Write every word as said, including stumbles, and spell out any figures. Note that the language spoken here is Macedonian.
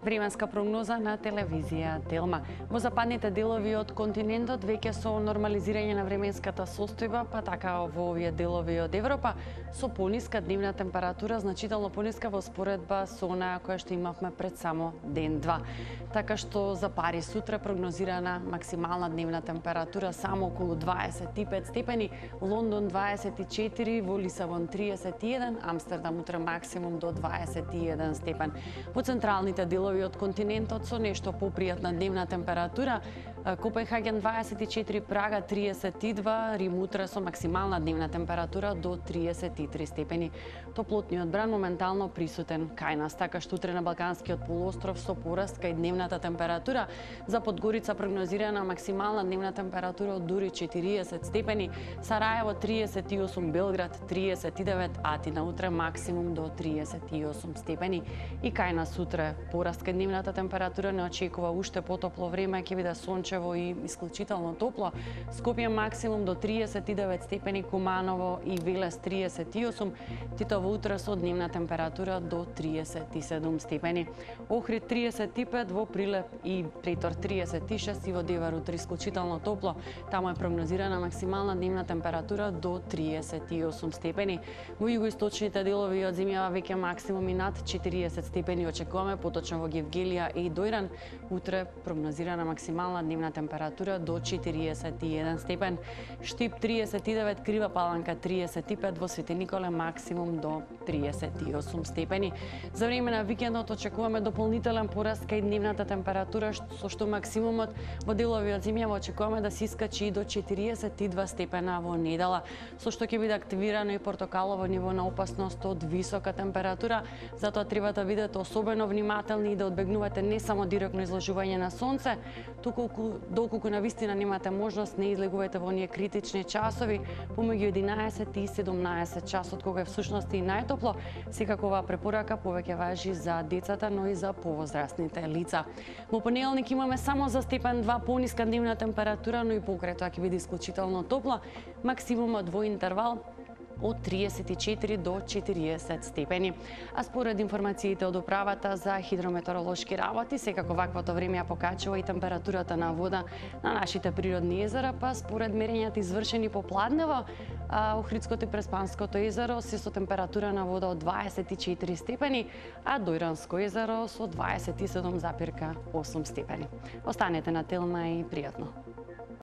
Временска прогноза на телевизија Телма. Во западните делови од континентот веќе со нормализирање на временската состојба, па така во овие делови од Европа, со пониска дневна температура, значително пониска во споредба со онаа која што имавме пред само ден-два. Така што за Париз сутре прогнозирана максимална дневна температура само околу дваесет и пет степени, Лондон дваесет и четири, во Лисабон триесет и еден, Амстердам утре максимум до дваесет и еден степен. Во централните делови од континентот со нешто попријатна дневна температура, Копенхаген дваесет и четири, Прага триесет и два, Рим утре со максимална дневна температура до триесет и три степени. Топлотниот бран моментално присутен кај нас, така што утре на Балканскиот полуостров со пораст кај дневната температура. За Подгорица прогнозирана максимална дневна температура од дури четириесет степени, Сараево триесет и осум, Белград триесет и девет, Атина утре максимум до триесет и осум степени. И кај нас утре пораст кај дневната температура не очекува уште потопло време, ќе биде сончево и исклучително топло. Скопје максимум до триесет и девет степени, Куманово и Велес триесет и осум, Титово утре со дневна температура до триесет и седум степени. Охрид триесет и пет, во Прилеп и Претор триесет и шест и во Девар утре исклучително топло. Таму е прогнозирана максимална дневна температура до триесет и осум степени. Во југоисточните делови од земјава веќе максимуми над четириесет степени очекуваме, поточно во Гевгелија и Дојран. Утре прогнозирана максимална дневна температура до четириесет и еден степен. Штип триесет и девет, Крива Паланка триесет и пет, во Свети Николе максимум до триесет и осум степени. За време на викендот очекуваме дополнителен пораст кај дневната температура, со што максимумот во делови од земјава очекуваме да се искачи и до четириесет и два степена во недела, со што ќе биде активирано и портокалово ниво на опасност од висока температура. Затоа треба да бидете особено внимателни и да одбегнувате не само директно изложување на сонце, туку доколку на вистина немате можност, не излегувајте во оние критични часови помеѓу единаесет и седумнаесет часот, кога е всушност и најтопло. Секако оваа препорака повеќе важи за децата, но и за повозрастните лица. Во понеделник имаме само за степен два пониска дневна температура, но и покрај тоа ќе биде исклучително топло, максимумот во интервал од триесет и четири до четириесет степени. А според информациите од управата за хидрометеоролошки работи, секако ваквото време ја покачува и температурата на вода на нашите природни езера, па според мерењата извршени по Пладнево, Охридското и Преспанското езеро се со температура на вода од дваесет и четири степени, а Дојранско езеро со дваесет и седум запирка осум степени. Останете на Телма и пријатно.